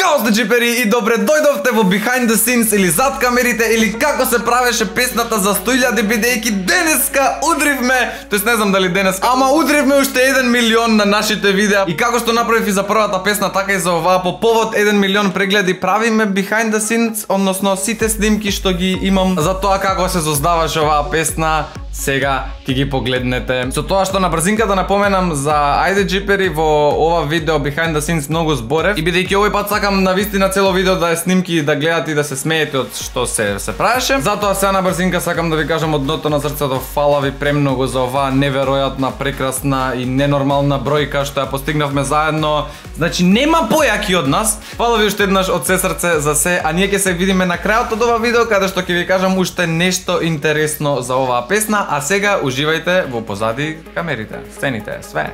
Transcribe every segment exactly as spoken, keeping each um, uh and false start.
Као сте джипери и добре дојдовте во Behind the Scenes или зад камерите или како се правеше песната за сто илјади бидејќи денеска удривме, тоест не знам дали денеска, ама удривме уште еден милион на нашите видеа и како што направив и за првата песна, така и за оваа по повод еден милион прегледи правиме Behind the Scenes, односно сите снимки што ги имам за тоа како се создаваше оваа песна. Сега ќе ги погледнете. Со тоа што на брзинка да напоменам за ајде джипери во ова видео Behind the Scenes многу зборев и бидејќи овој пат сакам на вистина цело видео да е снимки, да гледате и да се смеете од што се се правеше. Затоа сега на брзинка сакам да ви кажам од дното на срцето фала ви премногу за оваа неверојатна, прекрасна и ненормална бројка што ја постигнавме заедно. Значи нема појаки од нас. Фала ви уште еднаш од се срце за се, а ние ќе се видиме на крајот од ова видео каде што ќе ви кажам уште нешто интересно за оваа песна. А сега уживајте во позади камерите, сцените, све.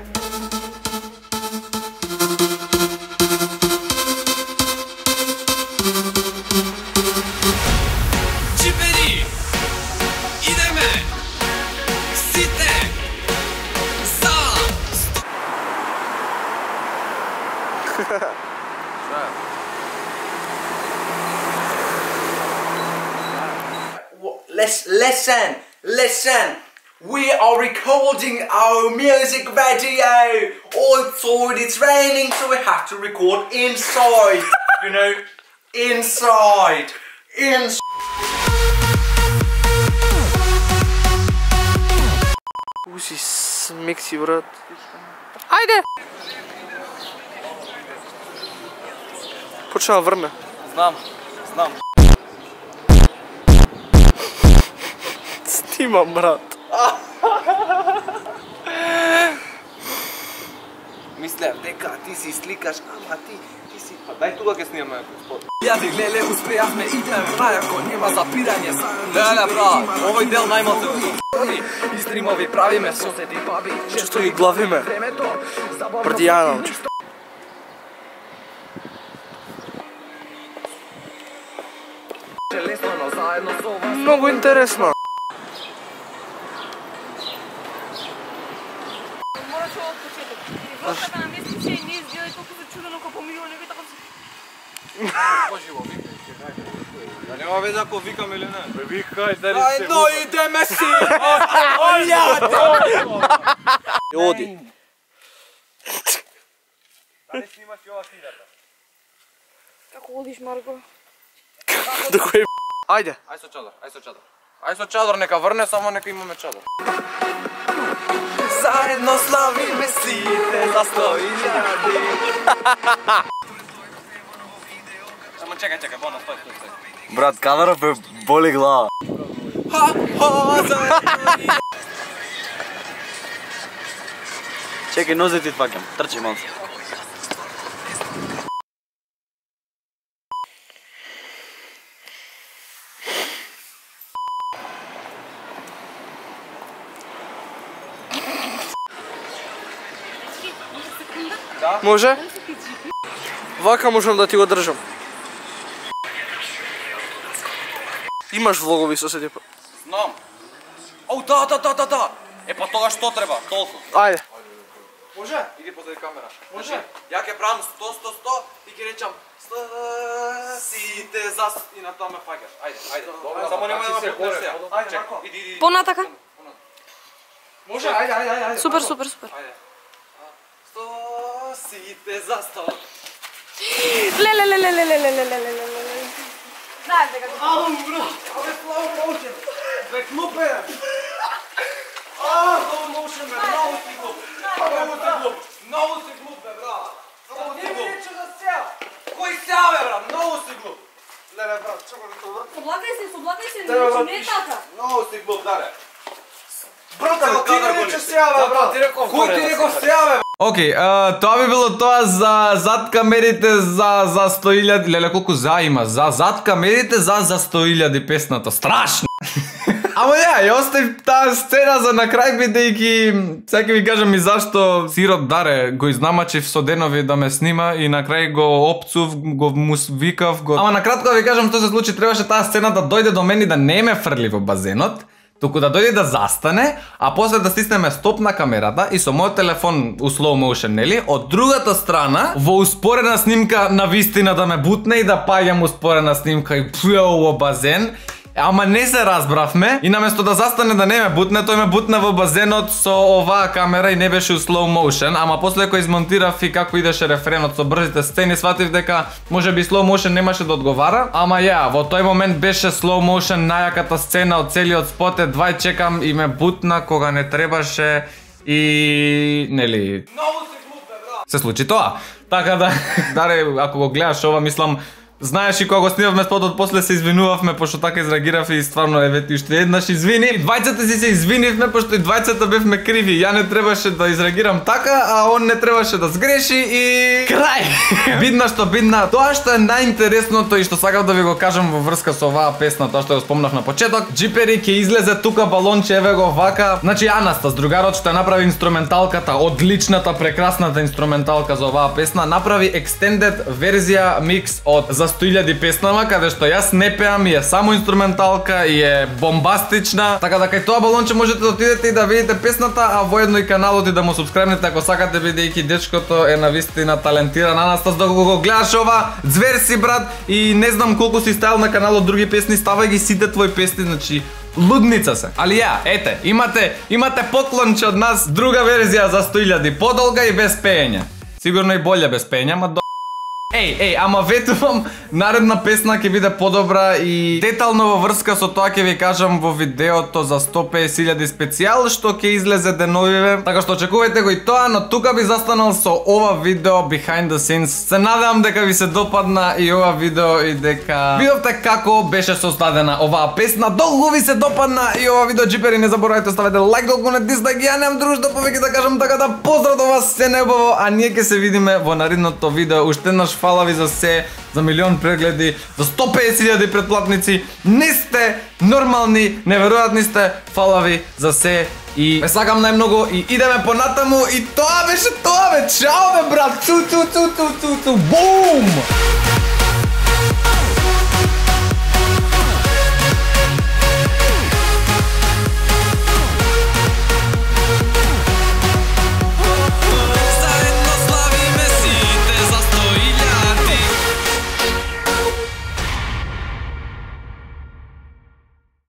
Джипери, идеме, сите, за... Listen, listen. We are recording our music video. Outside it's raining, so we have to record inside. You know, inside, inside. Уси смекси, брат. Ајде! Почна врне. Знам, знам. Снимам, брат. Мислев дека ти си сликаш, ама ти, ти си... Па дај тука ќе снимаме спот. Јади леле, успеавме, идеме прајако, нема запирање. Леле, брат, овој дел најмалку. И стримови правиме, соседи баби. Често ги главиме. Брдијано. Многу интересно. Врската на место че не изгледа толку зачудено како помилион, не така се. Поживо, викај, да нема везе ако викам или не. Бе викај, дали се... Ајно идеме си. Ојаде. Оди. Дали снимаш и ова снидарка? Како одиш, Марко? До кој... Ајде. Ај со чадор, ај со чадор. Ај со чадор, нека врне, само нека имаме чадор. Заедно славиме сите за сто илјади. Само чекај, чекај, бона, стој, стој, стој. Брат, камера бе боли глава. Ха, ха, заедно. Чекај, нозе ти факам. Трчи малце. Може? Вака можам да ти го држам. Имаш влогови соседи? Знам. Оу, да, да, да, да, да. Е, па тога што треба? Толку. Ајде. Може? Иди позади камера. Може? Ја ќе правам сто, сто, сто и ќе речам сто сите за и на тоа ме фаќаш. Ајде, ајде. Само немој да ме пукнеш сега. Ајде, чекај. Иди, иди. Понатака? Може, ајде, ајде, ајде. Супер, супер, супер. Ајде. сто сите за сто. Леле, леле, леле, леле, леле, леле, леле. Знаеш дека го... Ау, бро. Абе, slow motion. Бе, клупе. А, slow motion, бе, много си глуп. Много си глуп. Много си глуп, бе, брат. Много си глуп. Не ми рече да сеа. Кој сеа, бе, брат? Много си глуп. Леле, брат, чекай да те вртам. Соблакај се, соблакај се, не е така. Много си глуп, даре. Брат, ти ми рече сеа, бе, брат. Кој ти реков сеа, бе? Океј, okay, тоа би било тоа за зад камерите за за сто илјади. Леле, колку за има? За зад камерите за за сто илјади песната. Страшно. Ама ја, ја оставив таа сцена за на крај бидејќи сега ќе ви кажам и зашто Сирот Даре го изнамачив со денови да ме снима и на крај го опцув, го му викав, го... Ама на кратко да ви кажам што се случи, требаше таа сцена да дојде до мене и да не ме фрли во базенот. туку да дојде да застане, а после да стиснеме стоп на камерата и со мојот телефон у slow motion, нели? Од другата страна, во успорена снимка на вистина да ме бутне и да паѓам успорена снимка и пујао во базен. Ама не се разбравме и наместо да застане да не ме бутне, тој ме бутна во базенот со оваа камера и не беше у slow motion, ама после кога измонтирав и како идеше рефренот со брзите сцени, сватив дека можеби slow motion немаше да одговара, ама ја, во тој момент беше slow motion најаката сцена од целиот спот, едвај чекам и ме бутна кога не требаше и нели се случи тоа. Така да, даре, ако го гледаш ова, мислам, знаеш и кога го снимавме спотот, после се извинувавме пошто така изреагирав и стварно еве ти уште еднаш извини. И двајцата си се извинивме пошто и двајцата бевме криви. Ја не требаше да изреагирам така, а он не требаше да сгреши и крај. Бидна што бидна. Тоа што е најинтересното и што сакав да ви го кажам во врска со оваа песна, тоа што го спомнав на почеток, Джипери ќе излезе тука балонче, еве го вака. Значи Анастас, другарот што направи инструменталката, одличната, прекрасната инструменталка за оваа песна, направи extended верзија микс од за сто илјади песнама, каде што јас не пеам и е само инструменталка и е бомбастична. Така да кај тоа балонче можете да отидете и да видите песната, а воедно и каналот и да му субскрајбнете ако сакате, бидејќи дечкото е навистина талентиран. Анастас, доколку го гледаш ова, звер си брат и не знам колку си ставил на каналот други песни, ставај ги сите твои песни, значи лудница се. Али ја, ете, имате имате поклонче од нас, друга верзија за сто илјади, подолга и без пеење. Сигурно и болја без пеење, ама до... Еј, еј, ама ветувам, наредна песна ќе биде подобра и детално во врска со тоа ќе ви кажам во видеото за сто песет илјади специјал што ќе излезе деновиве. Така што очекувајте го и тоа, но тука би застанал со ова видео behind the scenes. Се надевам дека ви се допадна и ова видео и дека видовте како беше создадена оваа песна. Долго ви се допадна и ова видео, Джипери, не заборавајте ставете лайк, долго не дизлайк, ја немам дружда повеќе да кажам, така да поздрав до вас, се неубаво, а ние ќе се видиме во наредното видео. Уште еднаш фала ви за се, за милион прегледи, за сто песет илјади претплатници. Не сте нормални, неверојатни сте. Фала ви за се и ме сакам најмногу и идеме понатаму и тоа беше тоа бе. Чао бе брат. Цу цу цу цу цу цу. Бум!